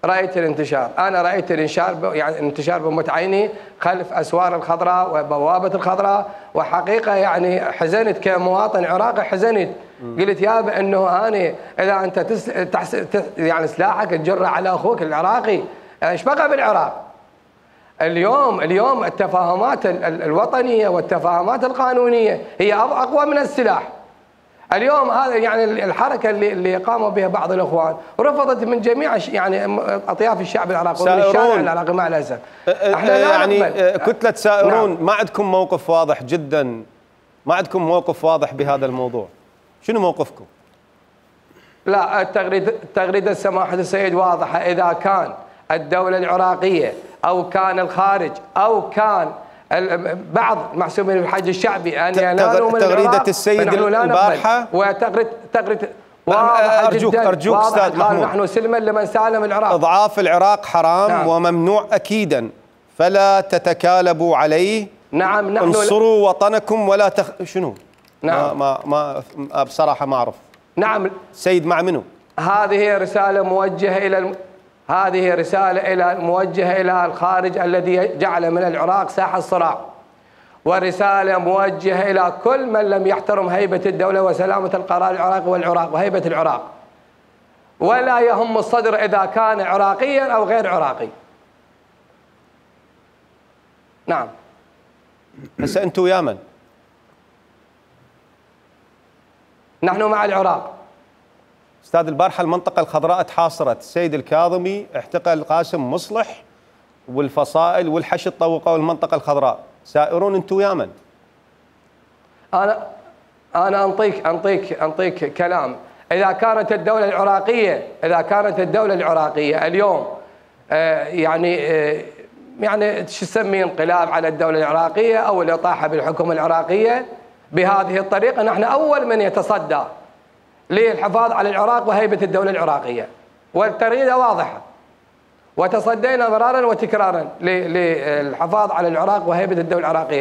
رأيت الانتشار، أنا رأيت يعني الانتشار بموت عيني خلف أسوار الخضراء وبوابة الخضراء، وحقيقة يعني حزنت كمواطن عراقي، حزنت. قلت يابا أنه أنا إذا أنت يعني سلاحك تجره على أخوك العراقي، إيش بقى بالعراق؟ اليوم التفاهمات الوطنية والتفاهمات القانونية هي أقوى من السلاح. اليوم هذا يعني الحركه اللي قاموا بها بعض الاخوان رفضت من جميع يعني اطياف الشعب العراقي ومن الشارع العراقي مع الاسف. احنا لا يعني كتله سائرون. نعم. ما عندكم موقف واضح جدا، ما عندكم موقف واضح بهذا الموضوع، شنو موقفكم؟ لا، التغريده سماحه السيد واضحه. اذا كان الدوله العراقيه او كان الخارج او كان بعض محسوبين بالحج الشعبي ان ينالوا من تغريده السيد البارحه تغريده ارجوك استاذ محمود، نحن سلما لمن سالم العراق. اضعاف العراق حرام. نعم. وممنوع اكيدا، فلا تتكالبوا عليه. نعم. نحن انصروا وطنكم ولا شنو؟ نعم. ما بصراحه ما اعرف. نعم. سيد مع منو؟ هذه رساله موجهه الى الخارج الذي جعل من العراق ساحه صراع، ورساله موجهه الى كل من لم يحترم هيبه الدوله وسلامه القرار العراقي وهيبه العراق، ولا يهم الصدر اذا كان عراقيا او غير عراقي. نعم. هسه انتم ويا من؟ نحن مع العراق. استاذ البارحه المنطقه الخضراء تحاصرت، السيد الكاظمي احتقل قاسم مصلح والفصائل والحشد طوقوا المنطقه الخضراء، سائرون انتم ويا من؟ انا انطيك كلام. اذا كانت الدوله العراقيه اليوم يعني شو تسميه انقلاب على الدوله العراقيه او الاطاحه بالحكومه العراقيه بهذه الطريقه، نحن اول من يتصدى للحفاظ على العراق وهيبه الدوله العراقيه، والتغريده واضحه، وتصدينا مرارا وتكرارا للحفاظ على العراق وهيبه الدوله العراقيه.